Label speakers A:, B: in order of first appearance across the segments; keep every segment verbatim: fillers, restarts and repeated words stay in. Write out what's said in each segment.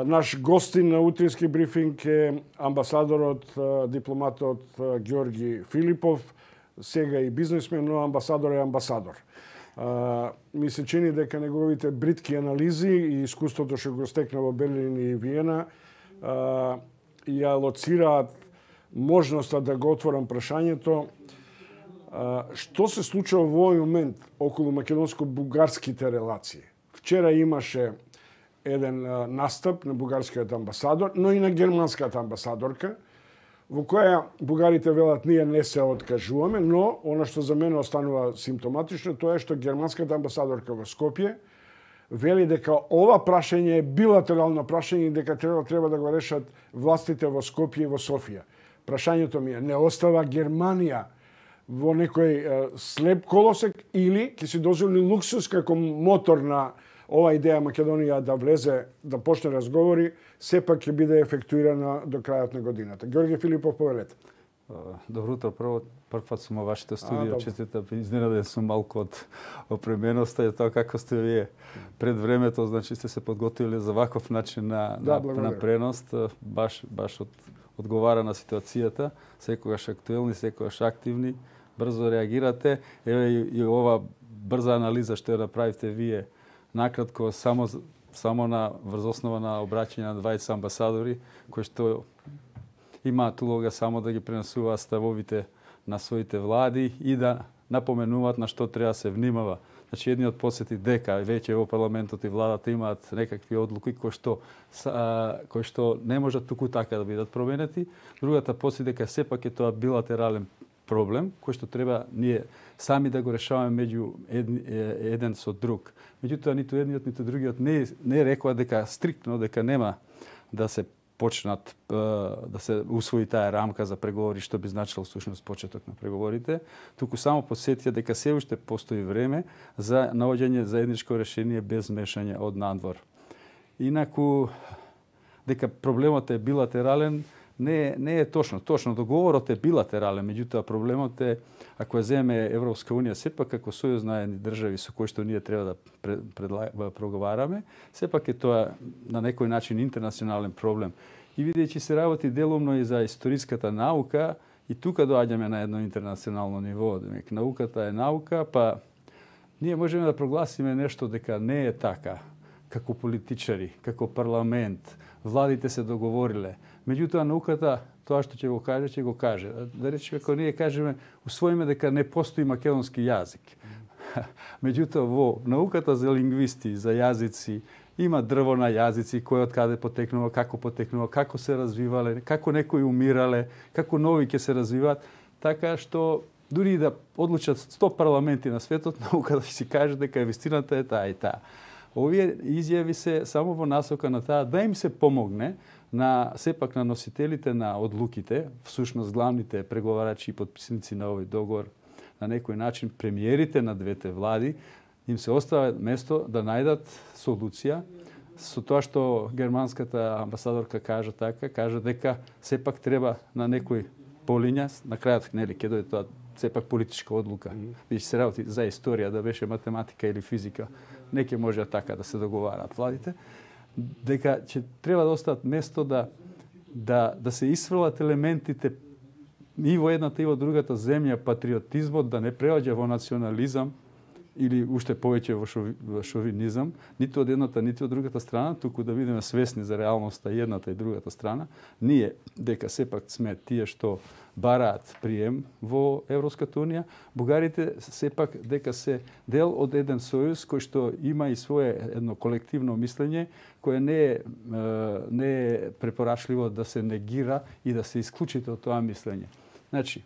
A: Наш гостин на утрински брифинг е амбасадорот, дипломатот Ѓорги Филипов, сега и бизнесмен, но амбасадор е амбасадор. Ми се чини дека неговите бритки анализи и искуството што го стекна во Берлин и Виена ја лоцираат можноста да го отворам прашањето што се случува во овој момент околу македонско-бугарските релации. Вчера имаше еден настап на бугарскиот амбасадор, но и на германската амбасадорка, во која бугарите велат ние не се откажуваме, но она што за мене останува симптоматично, тоа е што германската амбасадорка во Скопје вели дека ова прашање е билатерално прашање и дека треба треба да го решат властите во Скопје и во Софија. Прашањето ми е, не остава Германија во некој слеп колосек или ќе се дозволи луксус како мотор на ова идеја Македонија да влезе, да почне разговори, сепак ќе биде ефектуирана до крајот на годината. Ѓорги Филипов, повелете.
B: Добро утро, прво, прв пат сум во вашето студио, честитам, изненаден сум малку од опременоста и тоа како сте вие пред времето, значи сте се подготвили за ваков начин на, да, на, на пренос, баш, баш од, одговара на ситуацијата, секогаш актуелни, секогаш активни, брзо реагирате. Еве и, и ова брза анализа што ја направивте вие, накратко, само, само на врз основа на обраќање на дваесет амбасадори, кои што имаат улога само да ги пренесуваат ставовите на своите влади и да напоменуваат на што треба се внимава. Значи, едниот посети дека веќе во парламентот и владата имаат некакви одлуки кои што, кои што не можат туку така да бидат променети. Другата посети дека сепак е тоа билатерален проблем, кој што треба ние сами да го решаваме меѓу еден, еден со друг. Меѓутоа, ниту едниот, ниту другиот не, не рекоа дека стриктно, дека нема да се почнат, да се усвои таа рамка за преговори, што би значило всушност почеток на преговорите, туку само посетија дека се уште постои време за наоѓање заедничко решение без мешање од надвор. Инаку, дека проблемот е билатерален, Не, не е точно. Точно, договорот е билатерален, меѓутоа проблемот е, ако ја земе Европска Унија, сепак како сојуз на едни држави со кои што ние треба да проговараме, сепак е тоа на некој начин интернационален проблем. И бидејќи се работи делумно и за историската наука, и тука доаѓаме на едно интернационално ниво. Демек, науката е наука, па ние можеме да прогласиме нешто дека не е така, како политичари, како парламент, владите се договориле. Меѓутоа, науката, тоа што ќе го каже, ќе го каже. Да речеме, ако ние кажеме, усвоиме дека не постои македонски јазик. Меѓутоа, во науката за лингвисти, за јазици, има дрво на јазици, кој од каде потекнува, како потекнува, како се развивале, како некои умирале, како нови ќе се развиваат. Така што, дури да одлучат сто парламенти на светот, науката ќе си каже дека вистината е таа и таа. Овие изјави се само во насока на таа да им се помогне на сепак на носителите на одлуките, всушност главните преговарачи и подписници на овој договор, на некој начин премиерите на двете влади, им се остава место да најдат солуција со тоа што германската амбасадорка кажа така, кажа дека сепак треба на некој полиња, на крајот нели ќе дојде тоа сепак политичка одлука. Бидејќи се работи за историја, да беше математика или физика, не ќе може така да се договараат владите, дека ќе треба да остават место да, да, да се исфрлат елементите и во едната и во другата земја, патриотизмот да не преоѓа во национализам или уште повеќе во, шови, во шовинизам, ниту од едната, ниту од другата страна, туку да бидеме свесни за реалноста и едната и другата страна. Ние, дека сепак сме тие што бараат прием во Европската Унија, бугарите сепак дека се дел од еден сојуз кој што има и свое едно колективно мислење, кое не е, не е препорачливо да се негира и да се исклучите од тоа мислење. Значи,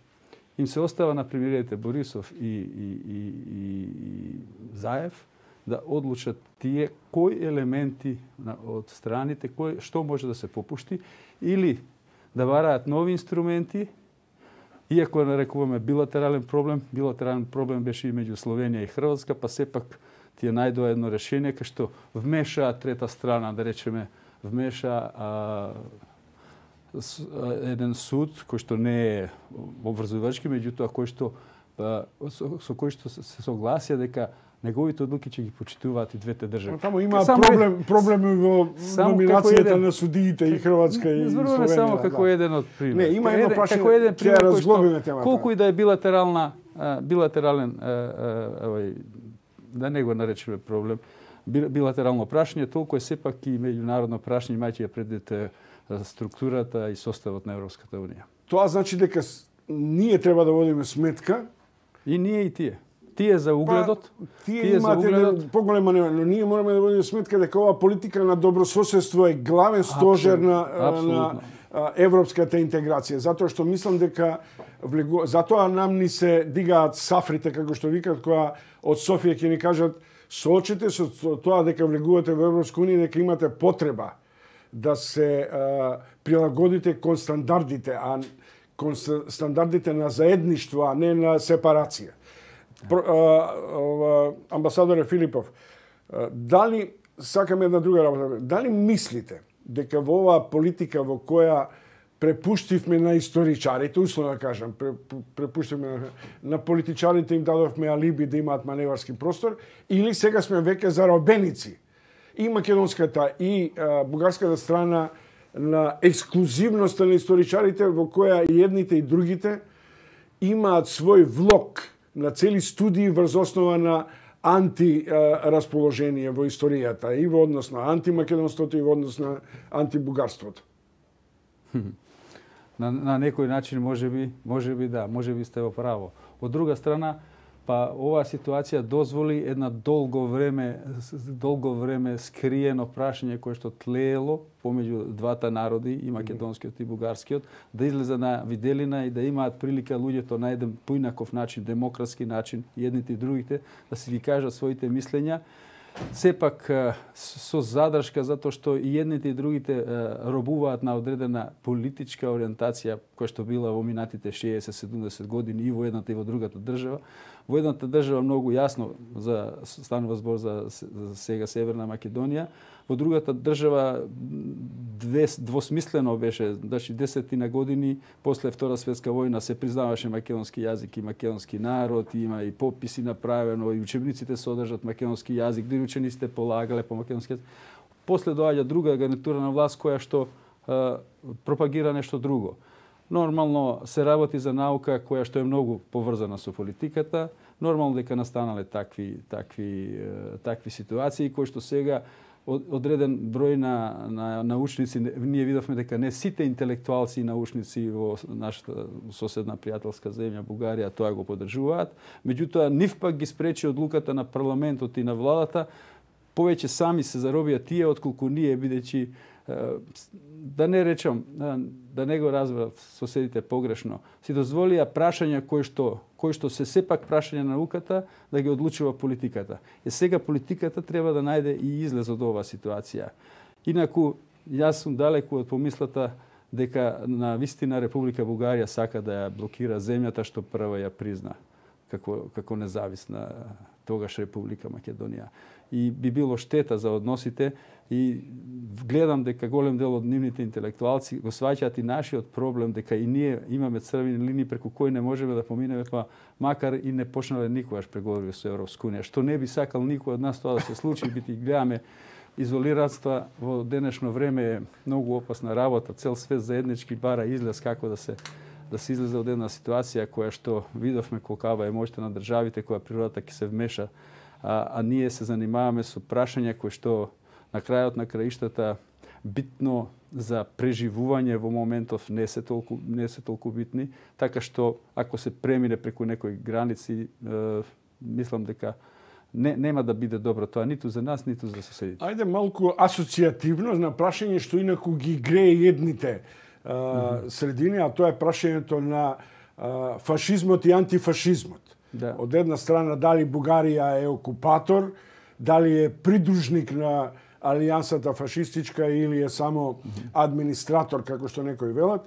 B: им се остава на премиерите Борисов и, и, и, и Заев да одлучат тие кои елементи од страните, кој, што може да се попушти, или да бараат нови инструменти, иако нарекуваме билатерален проблем, билатерален проблем беше и меѓу Словенија и Хрватска, па сепак тие најдоа едно решение кај што вмеша трета страна, да речеме, вмеша а, еден суд кој што не е обврзувачки, меѓутоа кој што а, со, со кој што се согласија дека неговите одлуки ќе ги почитуваат и двете држави.
A: Таму има проблем, проблеми во номинацијата на судиите и Хрватска и
B: Зборуваме
A: Словенија.
B: само како
A: да.
B: еден од пример.
A: Не, има едно прашање,
B: како еден пример кој што,
A: темата.
B: колку и да е билатерална, билатерален, овој, да не го наречеме проблем, билатерално прашање, толку е сепак и меѓународно прашање, имајќи ја предвид структурата и составот на Европската унија.
A: Тоа значи дека ние треба да водиме сметка.
B: И ние и тие. Тие за угледот,
A: па, тие, тие имате
B: угледот...
A: поголема нема, но ние мораме да водиме сметка дека оваа политика на добрососедство е главен стожер на, на европската интеграција, затоа што мислам дека влегу... затоа нам ни се дигаат сафрите, како што викат, која од Софија ќе ни кажат соочете со тоа дека влегувате во Европска унија, дека имате потреба да се а, прилагодите кон стандардите, а кон стандардите на заедништво, а не на сепарација. Про, а, а, амбасадоре Филипов, а, дали, сакам една друга работа, дали мислите дека во оваа политика во која препуштивме на историчарите, условно да кажам, препуштивме на, на политичарите, им дадовме алиби да имаат маневарски простор, или сега сме веќе заробеници и македонската и а, бугарската страна на ексклузивноста на историчарите, во која и едните и другите имаат свој влог на цели студии врз основа на антирасположение во историјата и во однос на антимакедонството и во однос на антибугарството.
B: На, на некој начин можеби, можеби да, можеби сте во право. Од друга страна, па оваа ситуација дозволи една долго време, долго време скриено прашање кое што тлеело помеѓу двата народи, и македонскиот и бугарскиот, да излезе на виделина и да имаат прилика луѓето на еден поинаков начин, демократски начин, едните и другите, да си ги кажат своите мислења. Сепак со задршка, затоа што и едните и другите робуваат на одредена политичка ориентација која што била во минатите шеесет седумдесет години и во едната и во другата држава. Во едната држава многу јасно за станува збор за, за сега Северна Македонија, во другата држава две, двосмислено беше, значи десетина години после Втора светска војна се признаваше македонски јазик и македонски народ, има и пописи направено, и учебниците содржат македонски јазик, дури учениците полагале по македонски јазик. После доаѓа друга гарнитура на власт која што е, пропагира нешто друго. Нормално се работи за наука која што е многу поврзана со политиката. Нормално дека настанале такви такви такви ситуации кои што сега одреден број на, на научници, ние видовме дека не сите интелектуалци и научници во нашата соседна пријателска земја Бугарија тоа го поддржуваат. Меѓутоа нив пак ги спречи одлуката на парламентот и на владата, повеќе сами се заробија тие отколку ние, бидејќи да не речам, да не го разберат соседите погрешно, си дозволија прашања кои што кои што се сепак прашања на науката да ги одлучува политиката. И сега политиката треба да најде и излез од оваа ситуација. Инаку, јас сум далеку од помислата дека на вистина Република Бугарија сака да ја блокира земјата што прва ја призна како како независна тогаш Република Македонија. И би било штета за односите, и гледам дека голем дел од нивните интелектуалци го сваќаат и нашиот проблем дека и ние имаме црвени линии преку кои не можеме да поминеме, па макар и не почнале никогаш преговори со Европска унија, што не би сакал никој од нас тоа да се случи, бити гледаме изолиратства во денешно време е многу опасна работа, цел свет заеднички бара излез како да се да се излезе од една ситуација која што видовме колкава е моќта на државите, која природата ќе се вмеша, а, а ние се занимаваме со прашања кои што на крајот на краиштата битно за преживување во моментов не се толку не се толку битни, така што ако се премине преку некои граници, е, мислам дека не нема да биде добро тоа ниту за нас, ниту за соседите.
A: Ајде малку асоцијативно на прашање што инаку ги грее едните а, mm-hmm. средини, а тоа е прашањето на а, фашизмот и антифашизмот. Да. Од една страна дали Бугарија е окупатор, дали е придружник на алијансата фашистичка или е само администратор, како што некои велат.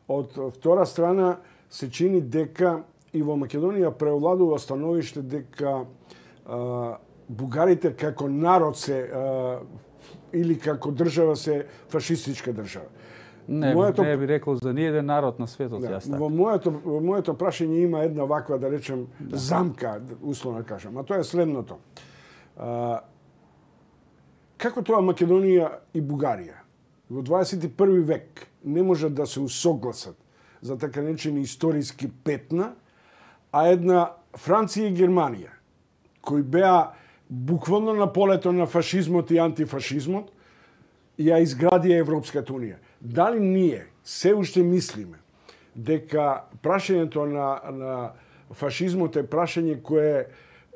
A: Од втора страна се чини дека и во Македонија преовладува становиште дека а, бугарите како народ се а, или како држава се фашистичка држава.
B: Не, моето... не би рекол за ниеден народ на светот,
A: да,
B: јас така.
A: Во моето, во моето прашање има една ваква, да речем, замка, условно кажам, а тоа е следното. А, како тоа Македонија и Бугарија во дваесет и први век не можат да се усогласат за така наречени историски петна, а една Франција и Германија, кои беа буквално на полето на фашизмот и антифашизмот, ја изградија Европската унија. Дали ние се уште мислиме дека прашањето на, на фашизмот е прашање кое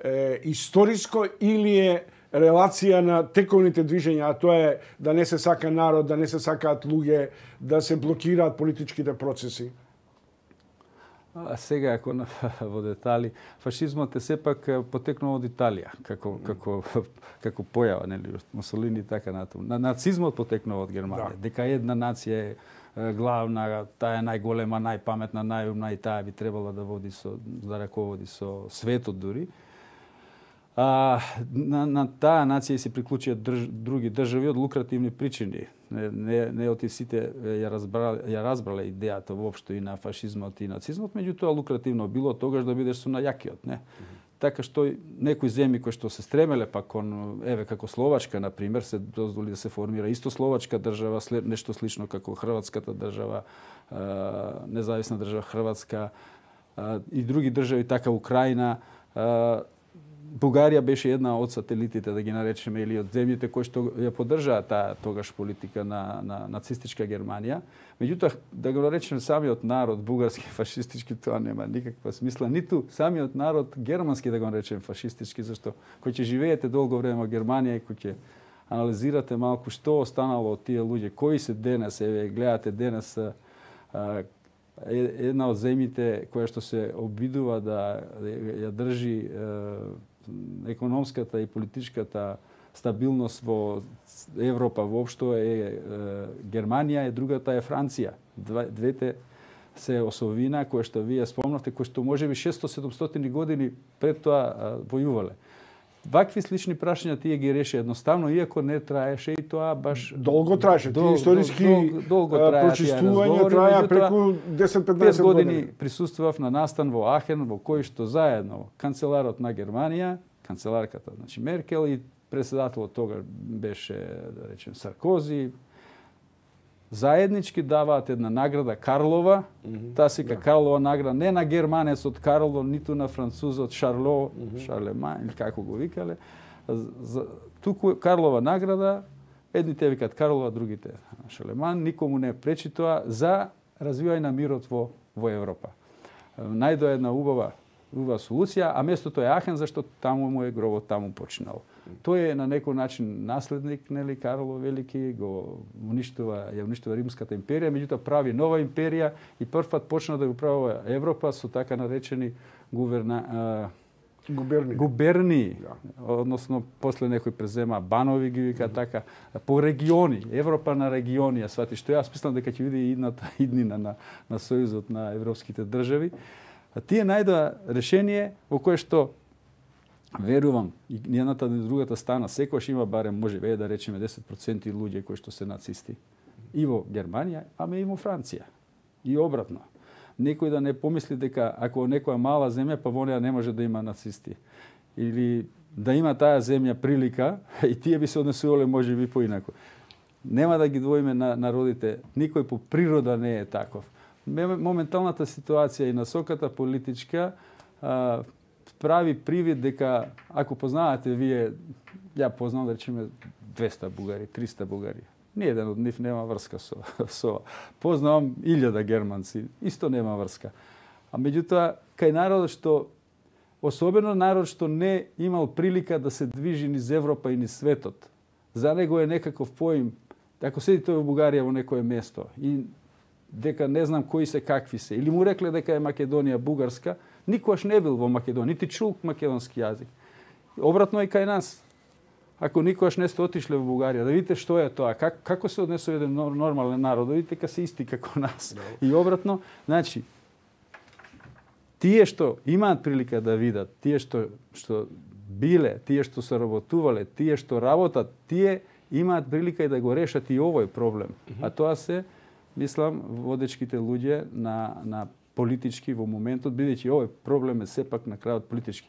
A: е историско или е релација на тековните движења, а тоа е да не се сака народ, да не се сакаат луѓе, да се блокираат политичките процеси?
B: А сега, ако на, во детали, фашизмот е сепак потекнал од Италија, како, како, како појава, нели, Мусолини и така натаму. На, нацизмот потекнал од Германија. Да. Дека една нација е главна, таа е најголема, најпаметна, најумна и таа би требала да води со, да раководи со светот дури. А, на, на таа нација се приклучија држ, други држави од лукративни причини. Не, не, не оти сите ја разбрале, ја разбрале идејата воопшто и на фашизмот и нацизмот, меѓутоа лукративно било тогаш да бидеш со најакиот, не? Mm-hmm. Така што некои земји кои што се стремеле па кон, еве како Словачка на пример, се дозволи да се формира исто словачка држава, след нешто слично како хрватската држава, е, независна држава Хрватска е, и други држави така Украина. Е, Бугарија беше една од сателитите, да ги наречеме, или од земјите кои што ја поддржаа таа тогаш политика на, на нацистичка Германија. Меѓутоа, да го наречеме самиот народ бугарски фашистички, тоа нема никаква смисла. Ниту самиот народ германски да го наречеме фашистички, зашто кој ќе живеете долго време во Германија и кој ќе анализирате малку што останало од тие луѓе, кои се денес, еве гледате денес а, една од земјите која што се обидува да ја држи е, економската и политичката стабилност во Европа воопшто е, е Германија, и другата е Франција. Двете се осовина кои што вие спомнавте, кои што можеби шестстотини-седумстотини години пред тоа а, војувале. Вакви слични прашања тие ги реши едноставно, иако не траеше и тоа баш
A: долго траеше. Тие историски
B: дол, дол,
A: прочистувања траја преку десет-петнаесет години.
B: години присуствував на настан во Ахен, во кој што заедно канцеларот на Германија, канцеларката, значи Меркел, и председателот тога беше, да речем, Саркози, заеднички даваат една награда Карлова. Mm-hmm. Таа се вика да. Карлова награда не на германецот Карло, ниту на французот Шарло, mm-hmm. Шарлеман, или како го викале. За, туку Карлова награда, едните викат Карлова, другите Шарлеман, никому не пречи тоа за развивање на мирот во, во Европа. Најдоа една убава, убава солуција, а местото е Ахен, зашто таму му е гробот, таму починал. Тој е на некој начин наследник, нели, Карло Велики, го уништува, ја уништува Римската империја, меѓутоа прави нова империја и првпат почна да го управува Европа со така наречени гуверна, а,
A: губерни.
B: губерни, да. Односно после некој презема банови ги вика mm-hmm. така, по региони, Европа на региони, а свати што јас мислам дека ќе биде идната иднина на на сојузот на европските држави. А тие најдоа решение во кое што верувам, и едната и другата стана, секојаш има барем, може ве да речеме десет проценти луѓе кои што се нацисти. И во Германија, ама и во Франција. И обратно. Некој да не помисли дека ако некоја мала земја, па во неа не може да има нацисти. Или да има таа земја прилика, и тие би се однесувале може би поинако. Нема да ги двоиме на народите, никој по природа не е таков. Моменталната ситуација и насоката политичка а, прави привид дека, ако познавате вие, ја познавам да речеме двеста бугари, триста бугари, ниеден од нив нема врска со со. Познавам илјада германци, исто нема врска. А меѓутоа, кај народот што, особено народ што не имал прилика да се движи низ Европа и низ светот, за него е некаков поим, ако седи тој во Бугарија во некое место и дека не знам кои се какви се, или му рекле дека е Македонија бугарска, никогаш не бил во Македонија, нити чул македонски јазик. Обратно и кај нас. Ако никогаш не сте отишле во Бугарија, да видите што е тоа, как, како се однесува еден нормален народ, да видите дека се исти како нас. No. И обратно, значи, тие што имаат прилика да видат, тие што, што биле, тие што се работувале, тие што работат, тие имаат прилика и да го решат и овој проблем. Mm-hmm. А тоа се, мислам, водечките луѓе на, на политички во моментот, бидејќи овој проблем е сепак на крајот политички.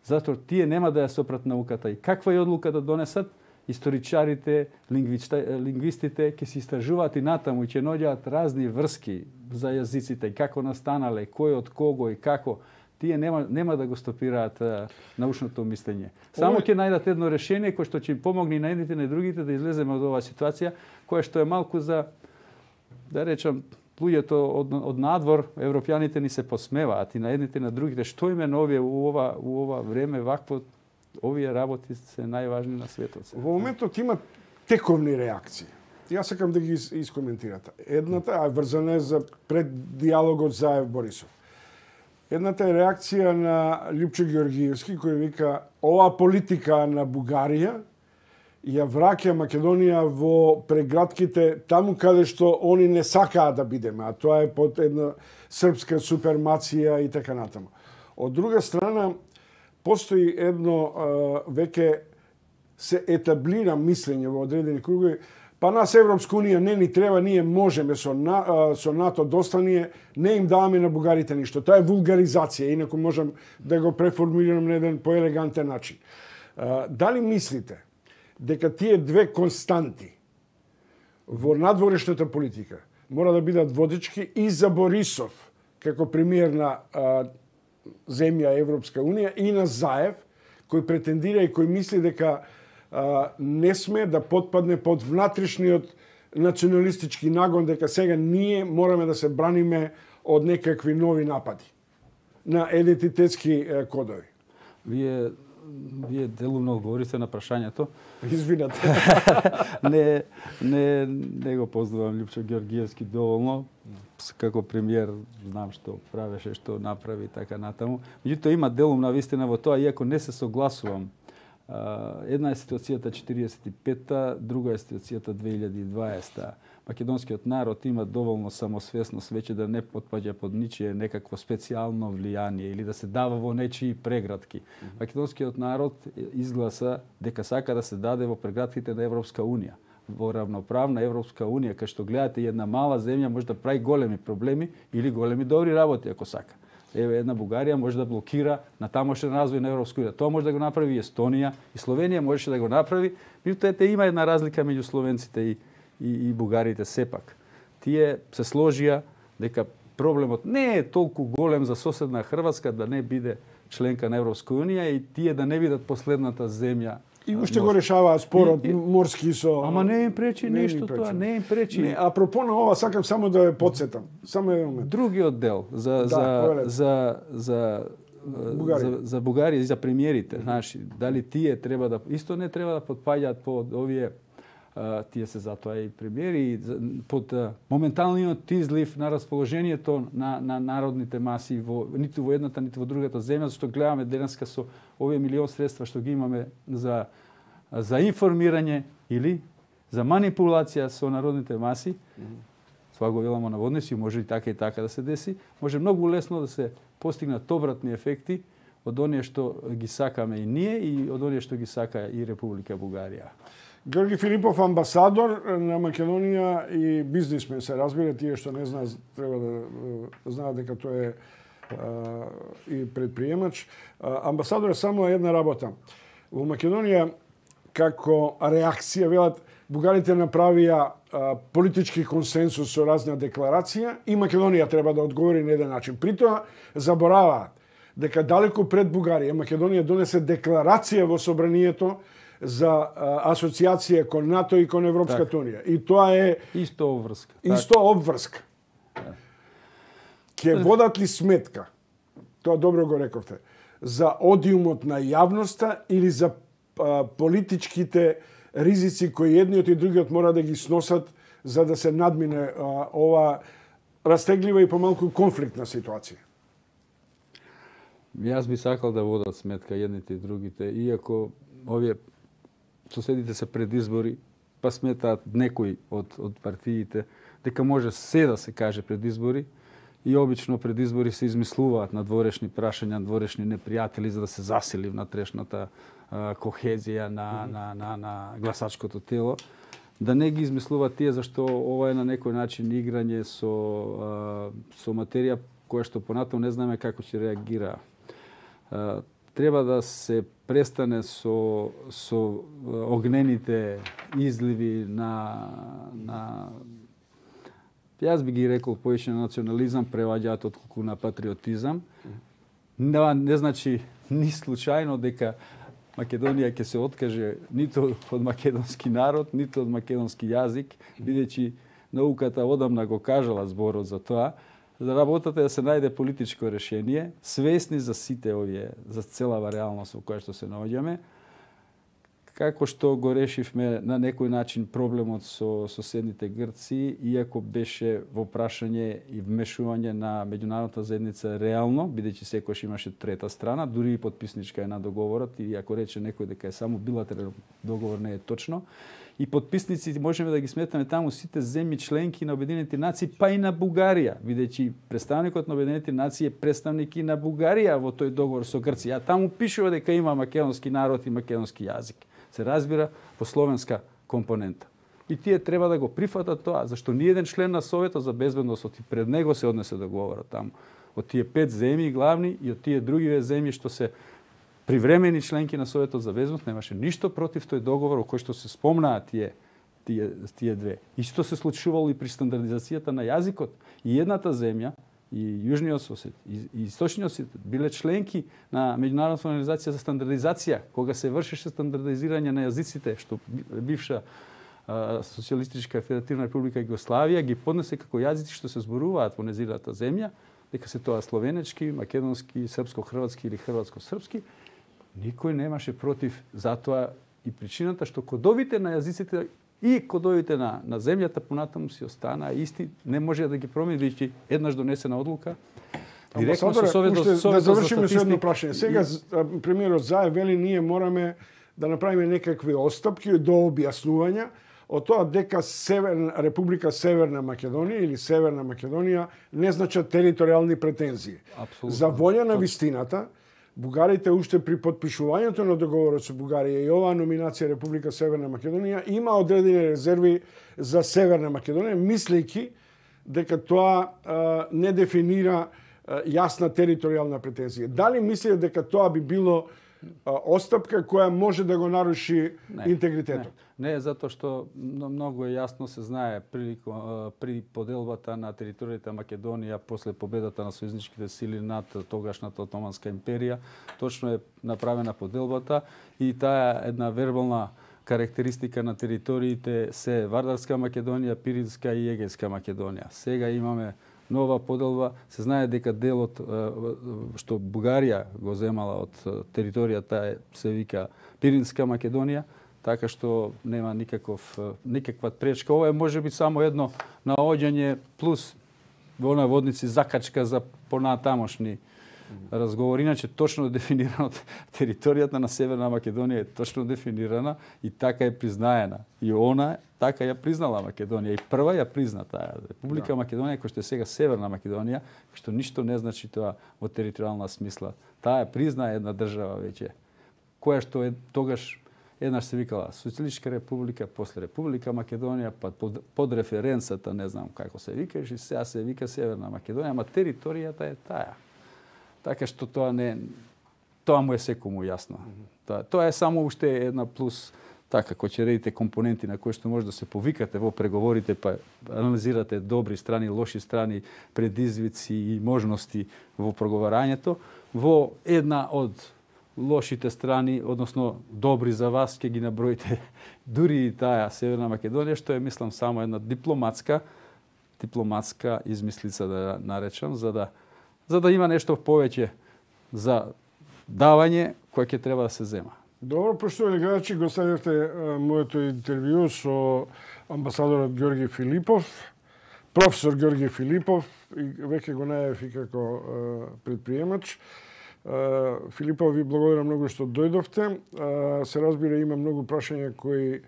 B: затоа тие нема да ја сопрат науката. И каква е одлука да донесат, историчарите, лингвистите ќе се истражуваат и натаму и ќе наоѓаат разни врски за јазиците, како настанале, кој од кого и како. Тие нема, нема да го стопираат а, научното мислење. Само ќе најдат едно решение кое што ќе им помогне и на едните и на другите да излеземе од оваа ситуација, која што е малку за, да речам, луѓето од, од надвор, европјаните ни се посмеваат и на едните и на другите. Што име на овие у ова, у ова време, вакво, овие работи се најважни на светот.
A: Во моментот има тековни реакции. Јас сакам да ги искоментирате. Едната, а врзана е за пред диалогот Заев Борисов. Едната е реакција на Лјупчо Ѓоргиевски, кој вика оваа политика на Бугарија ја враќа Македонија во прегратките таму каде што они не сакаат да бидеме, а тоа е под една српска супермација и така натаму. Од друга страна, постои едно веќе се етаблира мислење во одредени кругови. Па нас Европска унија не ни треба, ние можеме со, на, со НАТО доста ние не им даваме на бугарите ништо. Тоа е вулгаризација, инаку можам да го преформулирам на еден поелегантен начин. Дали мислите дека тие две константи во надворешната политика мора да бидат водички и за Борисов како премиер на а, земја Европска унија и на Заев, кој претендира и кој мисли дека а, не сме да потпадне под внатрешниот националистички нагон, дека сега ние мораме да се браниме од некакви нови напади на идентитетски е, кодови.
B: Вие Вие делумно говорите на прашањето.
A: Извинете.
B: не, не, не го познавам Лјупчо Ѓоргиевски доволно. Како премиер знам што правеше, што направи така натаму. Меѓутоа има делумна вистина во тоа, иако не се согласувам. Една е ситуацијата четириесет и петта, друга е ситуацијата две илјади и дваесетта. Македонскиот народ има доволно самосвесност веќе да не потпаѓа под ничие некакво специјално влијание или да се дава во нечии прегратки. Македонскиот народ изгласа дека сака да се даде во прегратките на Европска унија. Во равноправна Европска унија, кај што гледате една мала земја може да прави големи проблеми или големи добри работи ако сака. Еве една Бугарија може да блокира на тамошен развој на Европска унија. Тоа може да го направи и Естонија, и Словенија можеше да го направи. Меѓутоа има една разлика меѓу словенците и и, и бугарите сепак. Тие се сложија дека проблемот не е толку голем за соседна Хрватска да не биде членка на Европска унија и тие да не бидат последната земја.
A: И уште го решаваа спорот и, и, морски со...
B: Ама не им пречи не нешто тоа, не им пречи.
A: Не, апропо на ова сакам само да ве потсетам. Само еден момент.
B: Другиот дел за да, за, за за Бугарија. За, за Бугарија и за премиерите, знаеш, дали тие треба да исто не треба да потпаѓаат под овие тие се затоа и премиери под моменталниот излив на расположението на, на народните маси во, ниту во едната, ниту во другата земја, зашто гледаме денеска со овие милион средства што ги имаме за, за информирање или за манипулација со народните маси, mm-hmm. това го веламо наводници, може и така и така да се деси, може многу лесно да се постигнат обратни ефекти од оние што ги сакаме и ние и од оние што ги сака и Република Бугарија.
A: Георги Филипов, амбасадор на Македонија и бизнисмен, се разбира, тие што не знаат треба да знаат дека тој е а, и предприемач. А, амбасадор е само една работа. Во Македонија како реакција велат бугарите направија а, политички консенсус со разна декларација и Македонија треба да одговори на еден начин. Притоа забораваат дека далеку пред Бугарија Македонија донесе декларација во собранието за а, асоциација кон НАТО и кон Европската так. Унија. И тоа е
B: исто обврска.
A: Исто так. обврска. Ке водат ли сметка? Тоа добро го рековте. За одиумот на јавноста или за а, политичките ризици кои едниот и другиот мора да ги сносат за да се надмине а, ова растеглива и помалку конфликтна ситуација?
B: Јас би сакал да водат сметка едните и другите, иако овие соседите се пред избори, па сметаат некои од, од партиите дека може се да се каже пред избори и обично пред избори се измислуваат надворешни прашања, надворешни непријатели за да се засили внатрешната а, кохезија на, mm-hmm. на, на, на гласачкото тело. Да не ги измислуваат тие зашто ова е на некој начин играње со, а, со материја која што понатаму не знаеме како ќе реагира. А, треба да се престане со со огнените изливи на на јас би ги рекол повеќе на национализам преваѓаат отколку на патриотизам. Не, не значи ни случајно дека Македонија ќе се откаже ниту од македонски народ, ниту од македонски јазик, бидејќи науката одамна го кажала зборот за тоа. За работата е да се најде политичко решение, свесни за сите овие, за целава реалност во која што се наоѓаме, како што го решивме на некој начин проблемот со соседните Грци, иако беше во прашање и вмешување на меѓународната заедница реално, бидејќи секојаш имаше трета страна, дури и подписничка е на договорот, и ако рече некој дека е само билатерален договор, не е точно. И подписници можеме да ги сметаме таму сите земји членки на Обединените нации, па и на Бугарија, бидејќи представникот на Обединените нации е представник и на Бугарија во тој договор со Грција. А таму пишува дека има македонски народ и македонски јазик. Се разбира по словенска компонента. И тие треба да го прифатат тоа, зашто ни еден член на Советот за безбедност и пред него се однесе договорот таму. Од тие пет земји главни и од тие други земји што се привремени членки на Советот за безбедност, немаше ништо против тој договор, кој што се спомнаат тие, тие, тие две. Исто се случувало и при стандардизацијата на јазикот. И едната земја, и Јужниот Осет, и, и Источниот Осет биле членки на Меѓународната организација за стандардизација, кога се вршеше стандардизирање на јазиците, што бивша а, Социјалистичка федеративна република Југославија ги поднесе како јазици што се зборуваат во незината земја, дека се тоа словенечки, македонски, српско-хрватски или хрватско-српски. Никој немаше против затоа, и причината што кодовите на јазиците и кодовите на, на земјата понатаму си останаа исти, не може да ги промени, бидејќи еднаш донесена одлука директно со Советот за статистика.
A: Да завршиме со едно прашање. Сега премиерот Заев вели ние мораме да направиме некакви отстапки до објаснувања од тоа дека Северна Република Северна Македонија или Северна Македонија не значат територијални претензии.
B: Апсолутно.
A: За волја на вистината, бугарите уште при подпишувањето на договорот со Бугарија и оваа номинација Република Северна Македонија има одредени резерви за Северна Македонија, мислејќи дека тоа а, не дефинира а, јасна територијална претензија. Дали мислите дека тоа би било а, отстапка која може да го наруши не, интегритетот?
B: Не. Не, затоа што многу е јасно се знае при, при поделбата на територијата Македонија после победата на сојузничките сили над тогашната Отоманска империја, точно е направена поделбата и таа една вербална карактеристика на териториите се Вардарска Македонија, Пиринска и Егејска Македонија. Сега имаме нова поделба, се знае дека делот што Бугарија го земала од територијата се вика Пиринска Македонија, така што нема никаков никаква пречка. Ова е можеби само едно наоѓање плюс во наводници закачка за понатамошни разговори. Иначе точно дефинирано територијата на Северна Македонија е точно дефинирана и така е признаена. И она така ја признала Македонија и прва ја призна таа Република да. Македонија, која што е сега Северна Македонија, што ништо не значи тоа во територијална смисла. Таа ја призна една држава веќе, која што е тогаш еднаш се викала Социјалистичка република, после Република Македонија, па под, под референцата, не знам како се викаш, и сега се вика Северна Македонија, ама територијата е таа. Така што тоа не тоа му е секому јасно. Тоа, тоа е само уште една плюс, така, кој ќе редите компоненти на кои што може да се повикате во преговорите, па анализирате добри страни, лоши страни, предизвици и можности во преговарањето, во една од лошите страни, односно добри за вас, ќе ги наброите дури и таа Северна Македонија, што е, мислам, само една дипломатска дипломатска измислица да наречам, за да за да има нешто повеќе за давање кој ќе треба да се зема.
A: Добро, поштовани гледачи, го следевте моето интервју со амбасадорот Ѓорги Филипов, професор Ѓорги Филипов, и веќе го најавив и како предприемач. Филипов, ви благодарам многу што дојдовте. Се разбира, има многу прашања кои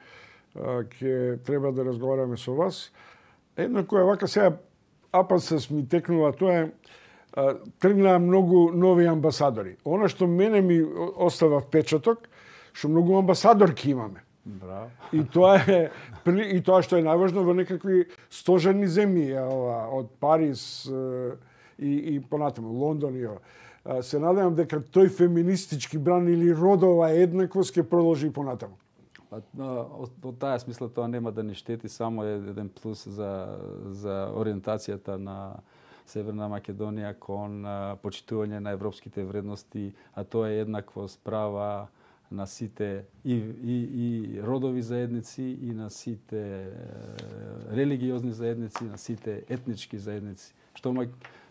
A: ќе треба да разговараме со вас. Едно која вака сега апансес ми текнува, тоа е тргнаа многу нови амбасадори. Она што мене ми остава впечаток, што многу амбасадорки имаме.
B: Браво.
A: И тоа е и тоа што е најважно во некакви стожерни земји, од Париз и и понатаму Лондон и ова. се надевам дека тој феминистички бран или родова еднаквост ќе продолжи понатаму.
B: Па, во таа смисла тоа нема да ни штети, само е еден плюс за, за ориентацијата на Северна Македонија кон почитување на европските вредности, а тоа е еднаквост права на сите и, и, и родови заедници, и на сите религиозни заедници, на сите етнички заедници. Што ма,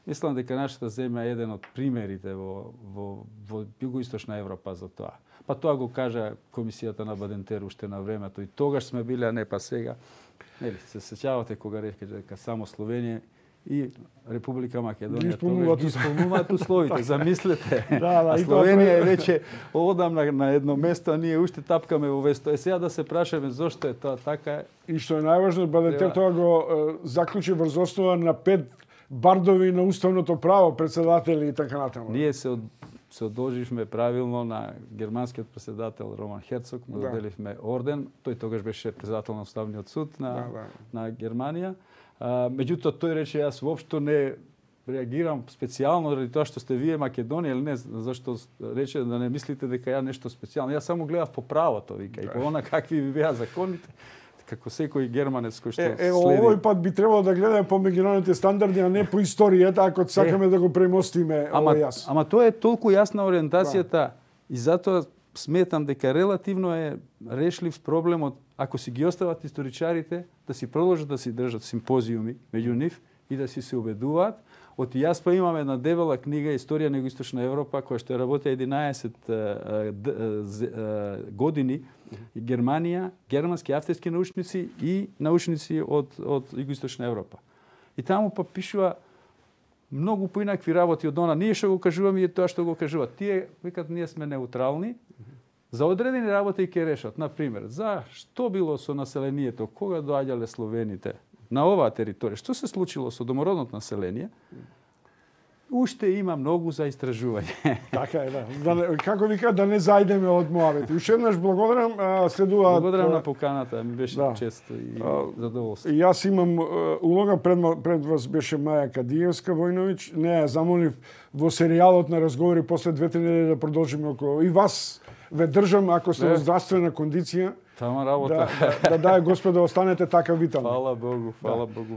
B: мислам дека нашата земја е еден од примерите во, во, во Југоисточна Европа за тоа. Па тоа го кажа комисијата на Бадентер уште на времето, и тогаш сме били, а не па сега. Нели, се сеќавате кога рече дека само Словенија и Република Македонија
A: тогаш
B: ги исполнуваат условите. Замислете.
A: Да, да,
B: а Словенија е веќе одамна на едно место, а ние уште тапкаме во весто. Е сега да се прашаме зошто е тоа така.
A: И што е најважно, Бадентер тоа го е, заклучи врз основа на пет бардови на уставното право, председатели и така натаму.
B: Ние се од се одолживме правилно на германскиот председател Роман Херцог, му
A: да.
B: доделивме орден. Тој тогаш беше председател на Уставниот суд на,
A: да, да.
B: на Германија. А, меѓутоа тој рече јас воопшто не реагирам специјално заради тоа што сте вие Македонија или не, зашто рече да не мислите дека ја нешто специјално. Јас само гледав по правото, вика, да. И по она какви би беа законите. Како секој германец кој што
A: е, е,
B: следи.
A: Овој пат би требало да гледаме по меѓународните стандарди, а не по историјата, ако сакаме е, да го премостиме
B: ама,
A: овој јас.
B: Ама тоа е толку јасна ориентацијата, да. И затоа сметам дека релативно е решлив проблемот ако си ги остават историчарите да си продолжат да си држат симпозиуми меѓу нив и да си се убедуваат. Од јас па имам една дебела книга Историја на Југоисточна Европа, која што работи единаесет години, Германија, германски, австрийски научници и научници од, од Југоисточна Европа. И таму па пишува многу поинакви работи од она. Ние што го кажуваме и тоа што го кажуваат. Тие викат ние сме неутрални. За одредени работи ќе решат. Например, за што било со населението, кога доаѓале словените на оваа територија, што се случило со домородното население, уште има многу за истражување.
A: Така е, да. да како вика, да не зајдеме од Моавет. Уште еднаш благодарам, следуваат...
B: Благодарам на поканата, ми беше да. Чест и задоволство.
A: Јас имам улога, пред, пред вас беше Маја Кадиевска Војновиќ, не ја замолив во серијалот на разговори после две-три недели да продолжиме околу. И вас ве држам, ако сте во здравствена кондиција,
B: Тама работа.
A: Да, да, да, да, Господе, останете така витални.
B: Фала Богу, фала да. Богу.